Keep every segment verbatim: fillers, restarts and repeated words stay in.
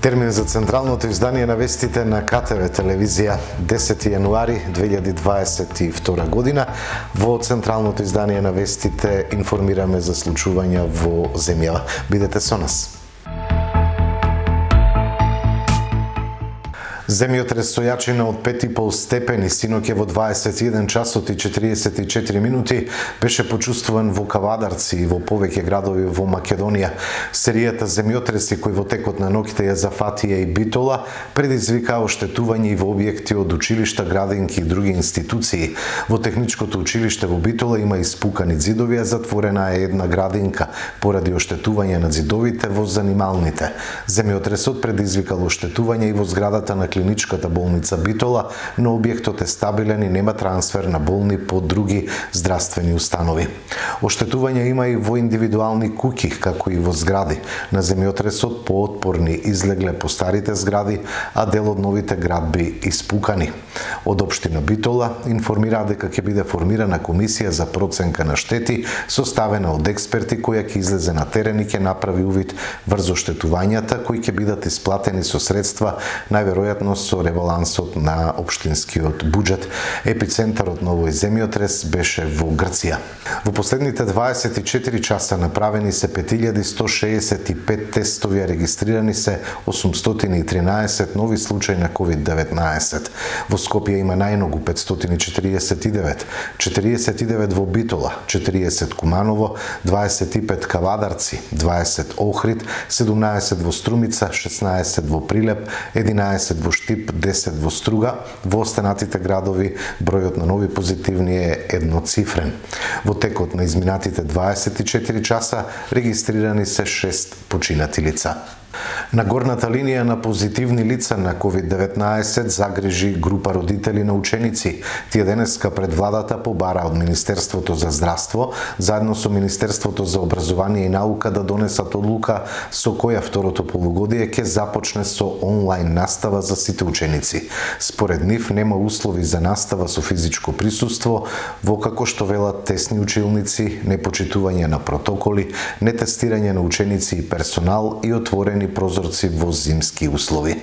Термин за централното издание на вестите на К Т В телевизија десети јануари две илјади дваесет и втора година. Во централното издание на вестите информираме за случувања во земјава. Бидете со нас. Земјотрес со јачина од пет и пол степени синоќе во дваесет и еден часот и четириесет и четири минути беше почувствуван во Кавадарци и во повеќе градови во Македонија. Серијата земјотреси кои во текот на ноќта ја зафатија и Битола предизвика оштетување и во објекти од училишта, градинки и други институции. Во техничкото училиште во Битола има испукани ѕидови, а затворена е една градинка поради оштетување на ѕидовите во занималните. Земјотресот предизвикал оштетување и во зградата на клиничката болница Битола, но објектот е стабилен и нема трансфер на болни по други здравствени установи. Оштетување има и во индивидуални куќи, како и во згради. На земјотресот поотпорни излегле по старите згради, а дел од новите градби испукани. Од општина Битола информираа дека ќе биде формирана комисија за проценка на штети, составена од експерти која ќе излезе на терен и ќе направи увид врз оштетувањата кои ќе бидат исплатени со средства најверојатно со ребалансот на општинскиот буџет. Епицентарот на овој земјотрес беше во Грција. Во последните дваесет и четири часа направени се пет илјади сто шеесет и пет тестови, а регистрирани се осумстотини и тринаесет нови случаи на ковид деветнаесет. Во Скопје има најмногу петстотини четириесет и девет, четириесет и девет во Битола, четириесет Куманово, дваесет и пет Кавадарци, дваесет Охрид, седумнаесет во Струмица, шеснаесет во Прилеп, единаесет во Штип, десет во Струга. Во останатите градови бројот на нови позитивни е едноцифрен. Во текот на изминатите дваесет и четири часа регистрирани се шест починати лица. На горната линија на позитивни лица на ковид деветнаесет загрижи група родители на ученици. Тие денеска пред владата побара од Министерството за здравство, заедно со Министерството за образование и наука да донесат одлука со која второто полугодие ќе започне со онлайн настава за сите ученици. Според нив нема услови за настава со физичко присуство, во како што велат тесни училници, непочитување на протоколи, нетестирање на ученици и персонал и отворени прозорци во зимски услови.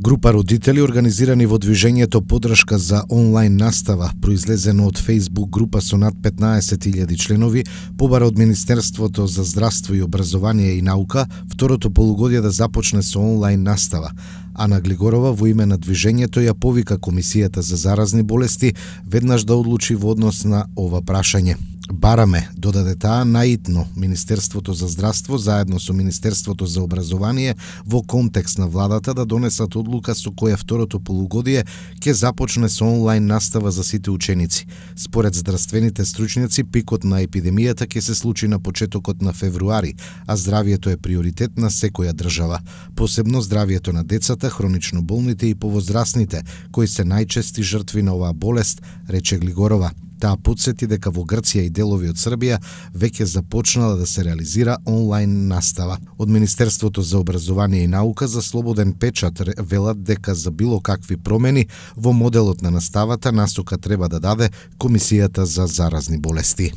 Група родители организирани во движењето Поддршка за онлайн настава, произлезено од Facebook група со над петнаесет илјади членови, побара од Министерството за здравство и образование и наука второто полугодие да започне со онлайн настава. Ана Глигорова во име на движењето ја повика Комисијата за заразни болести веднаш да одлучи во однос на ова прашање. Бараме, додаде таа, наитно Министерството за здравство заедно со Министерството за образование во контекст на владата да донесат одлука со која второто полугодие ќе започне со онлайн настава за сите ученици. Според здравствените стручњаци, пикот на епидемијата ќе се случи на почетокот на февруари, а здравието е приоритет на секоја држава. Посебно здравието на децата, хронично болните и повозрасните, кои се најчести жртви на оваа болест, рече Глигорова. Таа потсети дека во Грција и делови од Србија веќе започнала да се реализира онлайн настава. Од Министерството за образование и наука за слободен печат велат дека за било какви промени во моделот на наставата насока треба да даде Комисијата за заразни болести.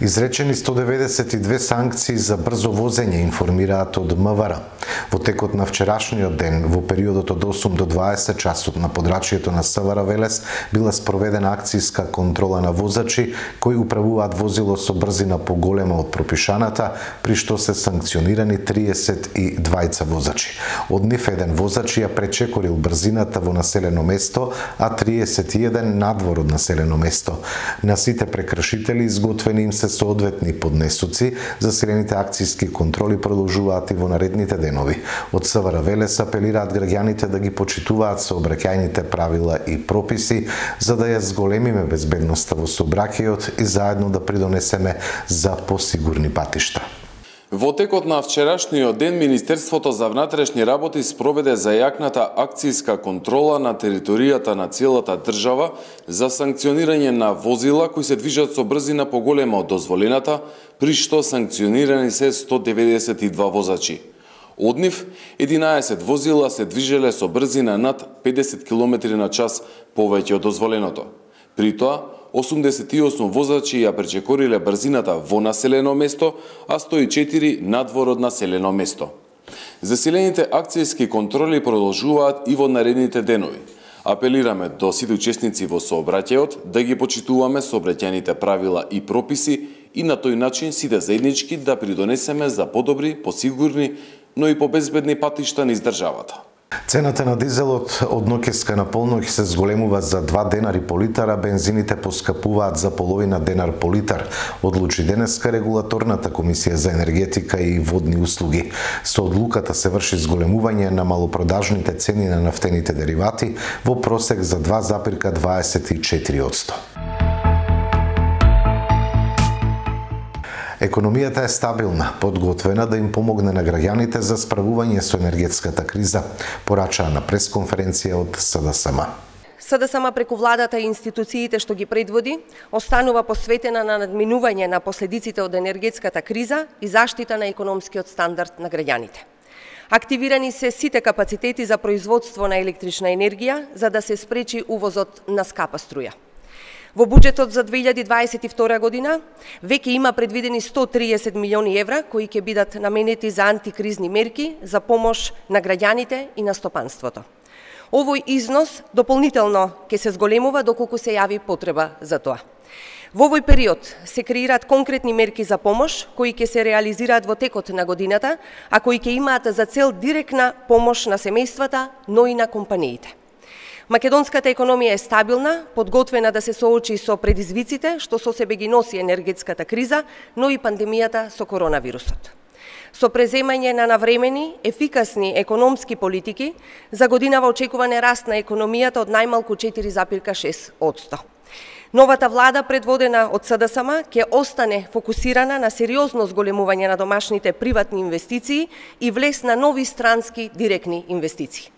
Изречени сто деветдесет и две санкции за брзо возење, информираат од М В Р. Во текот на вчерашниот ден, во периодот од осум до дваесет часот на подрачјето на С В Р Велес била спроведена акцијска контрола на возачи кои управуваат возило со брзина поголема од пропишаната, при што се санкционирани триесет и двајца возачи. Од нив еден воzač ја пречекорил брзината во населено место, а триесет и еден надвор од населено место. На сите прекршители изготвени им се соодветни поднесоци, засилените акцијски контроли продолжуваат и во наредните денови. Од С В Р Велес апелираат граѓаните да ги почитуваат сообраќајните правила и прописи, за да ја зголемиме безбедноста во сообраќајот и заедно да придонесеме за посигурни патишта. Во текот на вчерашниот ден, Министерството за внатрешни работи спроведе зајакната акцијска контрола на територијата на целата држава за санкционирање на возила кои се движат со брзина поголема од дозволената, при што санкционирани се сто деветдесет и два возачи. Од нив, единаесет возила се движеле со брзина над педесет километри на час повеќе од дозволеното. При тоа, осумдесет и осум возачи ја пречекориле брзината во населено место, а сто и четири надвор од населено место. Засилените акцијски контроли продолжуваат и во наредните денови. Апелираме до сите учесници во сообраќајот да ги почитуваме сообраќајните правила и прописи и на тој начин сите заеднички да придонесеме за подобри, посигурни, но и побезбедни патишта низ државата. Цената на дизелот од ноќеска на полноќ се зголемува за два денари по литар, а бензините поскапуваат за половина денар по литар, одлучи денеска регулаторната комисија за енергетика и водни услуги. Со одлуката се врши зголемување на малопродажните цени на нафтените деривати во просек за два запирка дваесет и четири одсто. Економијата е стабилна, подготвена да им помогне на граѓаните за справување со енергетската криза, порачаа на пресконференција од СДСМ. СДСМ преку владата и институциите што ги предводи, останува посветена на надминување на последиците од енергетската криза и заштита на економскиот стандард на граѓаните. Активирани се сите капацитети за производство на електрична енергија за да се спречи увозот на скапа струја. Во буџетот за две илјади дваесет и втора година веќе има предвидени сто триесет милиони евра кои ќе бидат наменети за антикризни мерки за помош на граѓаните и на стопанството. Овој износ дополнително ќе се зголемува доколку се јави потреба за тоа. Во овој период се креираат конкретни мерки за помош кои ќе се реализираат во текот на годината, а кои ќе имаат за цел директна помош на семејствата, но и на компаниите. Македонската економија е стабилна, подготвена да се соочи со предизвиците што со себе ги носи енергетската криза, но и пандемијата со коронавирусот. Со преземање на навремени, ефикасни економски политики, за годинава очекуване раст на економијата од најмалку четири запирка шест одсто. Новата влада, предводена од СДСМ, ќе остане фокусирана на сериозно зголемување на домашните приватни инвестиции и влез на нови странски директни инвестиции.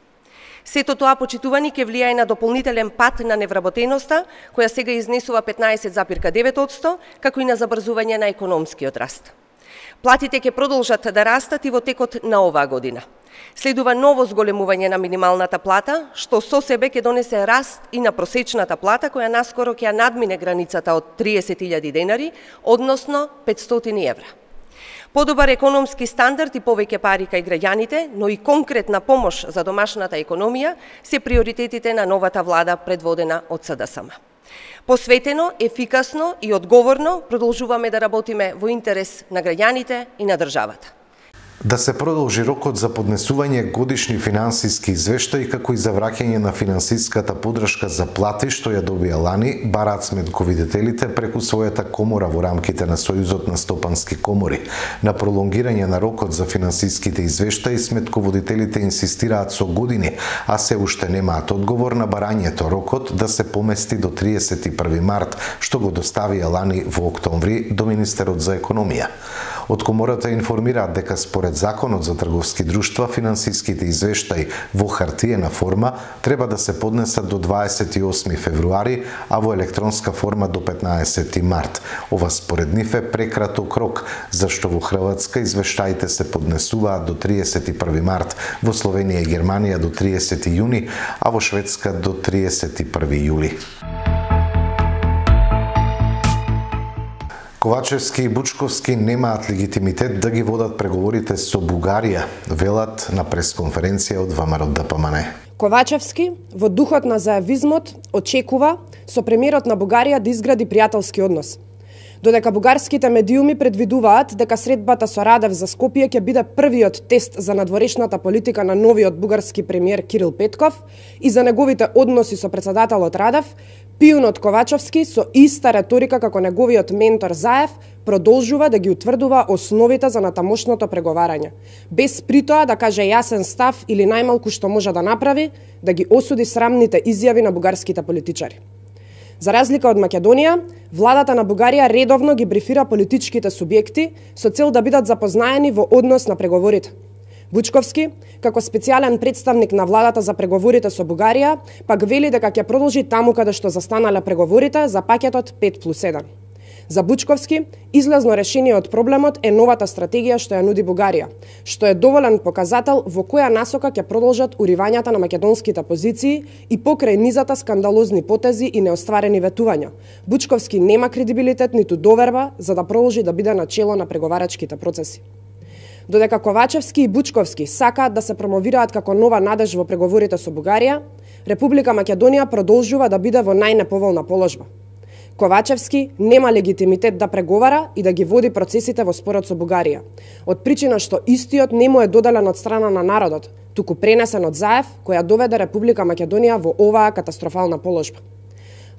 Сето тоа, почитувани, ќе влијае на дополнителен пат на невработеноста, која сега изнесува петнаесет запирка девет одсто, како и на забрзување на економскиот раст. Платите ќе продолжат да растат и во текот на оваа година. Следува ново зголемување на минималната плата, што со себе ќе донесе раст и на просечната плата, која наскоро ќе ја надмине границата од триесет илјади денари, односно петстотини евра. Подобар економски стандард и повеќе пари кај граѓаните, но и конкретна помош за домашната економија се приоритетите на новата влада предводена од СДСМ. Посветено, ефикасно и одговорно продолжуваме да работиме во интерес на граѓаните и на државата. Да се продолжи рокот за поднесување годишни финансиски извештаи како и за враќање на финансиската поддршка за плати што ја добија лани, бараат сметковидителите преку својата комора во рамките на Сојузот на стопански комори. На пролонгирање на рокот за финансиските извештаи сметководителите инсистираат со години, а се уште немаат одговор на барањето рокот да се помести до триесет и први март, што го доставија лани во октомври до Министерот за економија. Од комората информираат дека според Законот за трговски друштва финансиските извештаи во хартиена форма треба да се поднесат до дваесет и осми февруари, а во електронска форма до петнаесети март. Ова според нив е прекраток рок, зашто во Хрватска извештаите се поднесуваат до триесет и први март, во Словенија и Германија до триесети јуни, а во Шведска до триесет и први јули. Ковачевски и Бучковски немаат легитимитет да ги водат преговорите со Бугарија, велат на пресконференција од ВМРО Д П М Н. Ковачевски, во духот на зајавизмот, очекува со премиерот на Бугарија да изгради пријателски однос. Додека бугарските медиуми предвидуваат дека средбата со Радев за Скопје ќе биде првиот тест за надворешната политика на новиот бугарски премиер Кирил Петков и за неговите односи со председателот Радев, пиунот Ковачевски со иста реторика како неговиот ментор Заев продолжува да ги утврдува основите за натамошното преговарање, без притоа да каже јасен став или најмалку што може да направи, да ги осуди срамните изјави на бугарските политичари. За разлика од Македонија, владата на Бугарија редовно ги брифира политичките субјекти со цел да бидат запознаени во однос на преговорите. Бучковски, како специјален представник на владата за преговорите со Бугарија, пак вели дека ќе продолжи таму каде што застанале преговорите за пакетот пет плюс еден. За Бучковски, излазно решение од проблемот е новата стратегија што ја нуди Бугарија, што е доволен показател во која насока ќе продолжат уривањата на македонските позиции и покрај низата скандалозни потези и неостварени ветувања. Бучковски нема кредибилитет ниту доверба за да продолжи да биде на чело на преговарачките процеси. Додека Ковачевски и Бучковски сакаат да се промовираат како нова надеж во преговорите со Бугарија, Република Македонија продолжува да биде во најнеповолна положба. Ковачевски нема легитимитет да преговара и да ги води процесите во спорот со Бугарија, од причина што истиот не му е доделен од страна на народот, туку пренесен од Заев, која доведе Република Македонија во оваа катастрофална положба.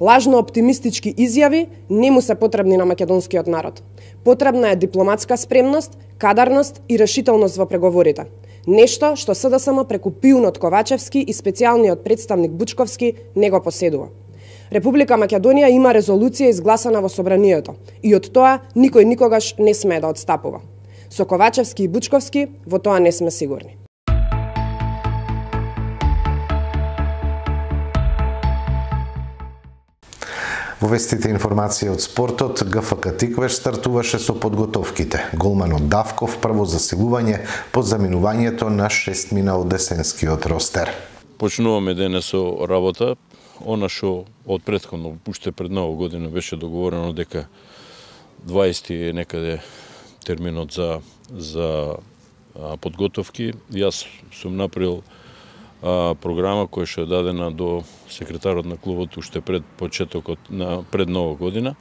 Лажно оптимистички изјави не му се потребни на македонскиот народ. Потребна е дипломатска спремност, кадарност и решителност во преговорите. Нешто што СДСМ преку пиунот Ковачевски и специјалниот представник Бучковски не го поседува. Република Македонија има резолуција изгласана во Собранието и од тоа никој никогаш не смее да одстапува. Со Ковачевски и Бучковски во тоа не сме сигурни. Во вестите информација од спортот, ГФК Тиквеш стартуваше со подготовките. Голманот Давков прво засилување по заминувањето на шестмина од десенскиот ростер. Почнуваме денес со работа. Она што од претходно, уште пред нова година беше договорено дека дваесети е некаде терминот за за а, подготовки. Јас сум направил а, програма која што е дадена до секретарот на клубот уште пред почетокот на пред нова година.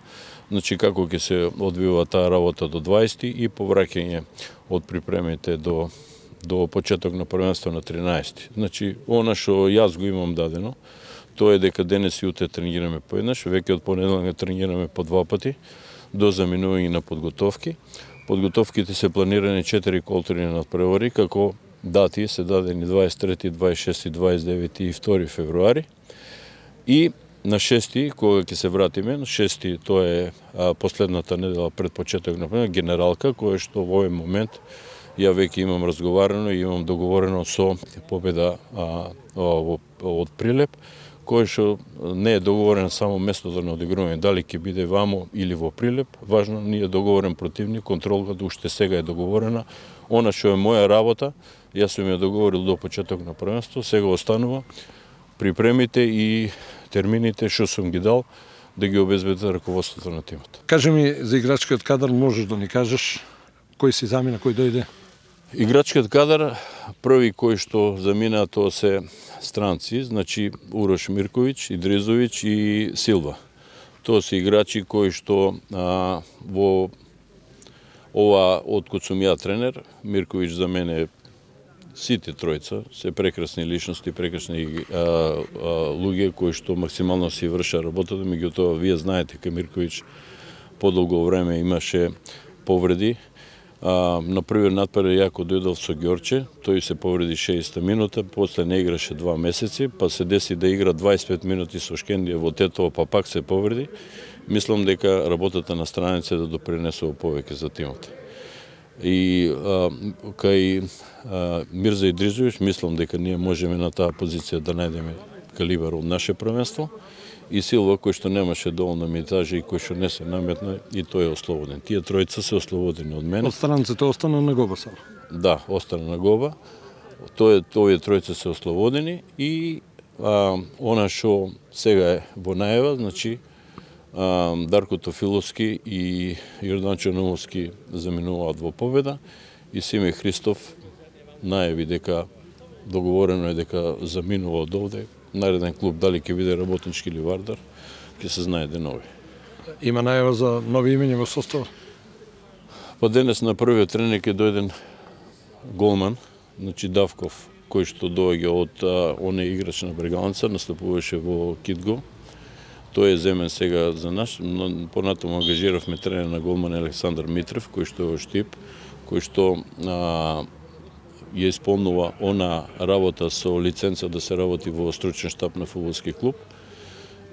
Значи како ќе се одвива таа работа до дваесети и повраќање од припремите до до почеток на првенство на тринаесети. Значи она што јас го имам дадено, тоа е дека денес и утре тренираме поеднаш, веќе од понеделник тренираме по два пати до заминување на подготовки. Подготовките се планирани четири колтурни надпревари, како дати се дадени дваесет и трети, дваесет и шести, дваесет и девети и втори февруари. И на шести, кога ќе се вратиме, на шести тоа е а, последната недела пред почеток на генералка, која што во овој момент ја веќе имам разговарано и имам договорено со Победа а, а, од Прилеп, кој што не е договорен само местото на одигрување, дали ќе биде вамо или во Прилеп, важно ни е договорен противник, контролата уште сега е договорена. Она што е моја работа, јас сум ја договорил до почеток на првенство, сега останува припремите и термините што сум ги дал да ги обезбеди раководството на тимот. Кажи ми за играчкиот кадар, можеш да ни кажеш кој си замина, кој дојде? Играчкиот кадар, први кој што замина тоа се странци, значи Урош Мирковиќ, Идризовиќ и Силва. Тоа се играчи кои што а, во ова откад сум ја тренер, Мирковиќ за мене сите тројца се прекрасни личности, прекрасни а, а, луѓе кои што максимално си врша работата, меѓутоа вие знаете дека Мирковиќ подолго време имаше повреди. Uh, на првиот надпревар јако дојдов со Ѓорче, тој се повреди шеесетта минута, после не играше два месеци, па се деси да игра дваесет и пет минути со Шкендија во Тетово, па пак се повреди. Мислам дека работата на страница да допринесува повеќе за тимот. И uh, кај uh, Мирза Идризовиќ, мислам дека ние можеме на таа позиција да најдеме калибар од наше првенство. И Силва, кој што немаше доволно минутажи и кој што не се наметна, и тој е ослободен. Тие тројца се ослободени од мене. Од странците остана на Гоба сам? Да, остана на Гоба. Тој, овие тројца се ослободени и а, она што сега е во најава, значи а, Дарко Тофиловски и Јордан Черновски заминуваат во Победа и Симе Христов најави дека договорено е дека заминува од овде. Нареден клуб, дали ќе биде Работнички или Вардар, ќе се знае денови. Има најава за нови имења во состава? Па денес на првиот тренинг е дојден голман, значи Давков, кој што доаѓа од оне играч на Брегалница, настапуваше во Китго. Тој е земен сега за нас, но понатаму ангажиравме тренер на голман Александар Митрев, кој што е штип, кој што а, ја исполнува она работа со лиценца да се работи во стручен штаб на фудбалски клуб.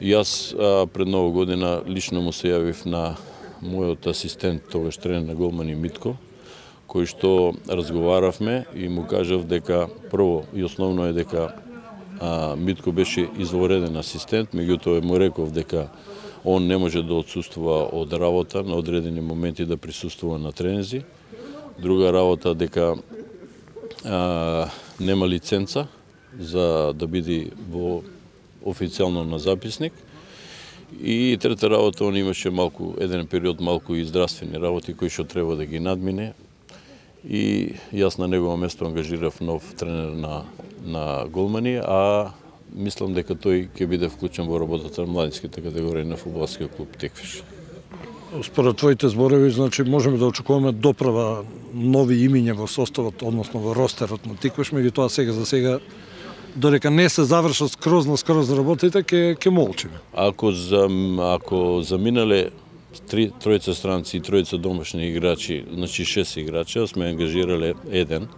Јас а, пред нова година лично му се јавив на мојот асистент, тогаш тренер на голмани Митко, кој што разговаравме и му кажав дека прво и основно е дека а, Митко беше извореден асистент, меѓутоа му реков дека Он не може да отсуствува од работа, на одредени моменти да присуствува на тренинзи. Друга работа дека а, нема лиценца за да биде во официјално на записник. И трета работа, он имаше малку, еден период малку и здравствени работи кои што треба да ги надмине. И јас на негово место ангажирав нов тренер на, на голмани, а мислам дека тој ќе биде вклучен во работата на младинските категории на фудбалскиот клуб Теквиш. Според твоите зборови, значи можеме да очекуваме доправа нови имиња во составот, односно во ростерот на Теквиш, меѓутоа сега за сега додека не се завршат скроз на скроз работите, ќе ќе молчиме. Ако за ако заминале три тројца странци и тројца домашни играчи, значи шест играчи, сме ангажирале еден.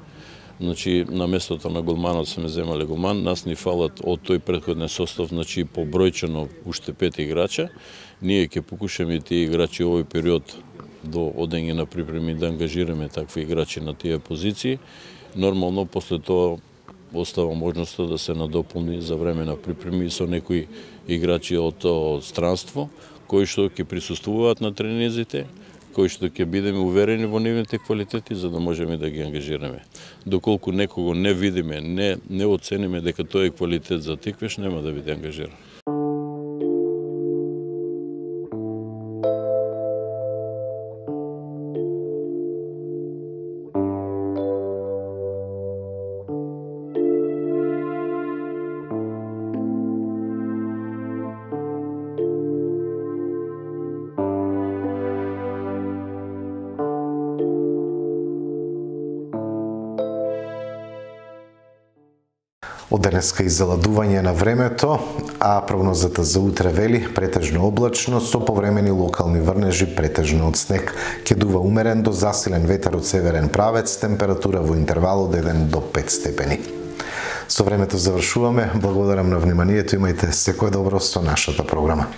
Значи на местото на голманот сме земале голман, нас ни фалат од тој претходен состав, значи побројчено уште пет играча. Ние ќе покушаме тие играчи овој период до одење на припреми да ангажираме такви играчи на тие позиции. Нормално после тоа остава можноста да се надополни за време на припреми со некои играчи од, од странство, кои што ќе присуствуваат на тренизите, кои што ќе бидеме уверени во нивните квалитети за да можеме да ги ангажираме. Доколку некого не видиме, не не оцениме дека тој е квалитет за Теквиш, нема да биде ангажиран. Од денеска изаладување на времето, а прогнозата за утре вели претежно облачно со повремени локални врнежи, претежно од снег. Ќе дува умерен до засилен ветер од северен правец, температура во интервал од еден до пет степени. Со времето завршуваме. Благодарам на вниманието, имајте секое добро со нашата програма.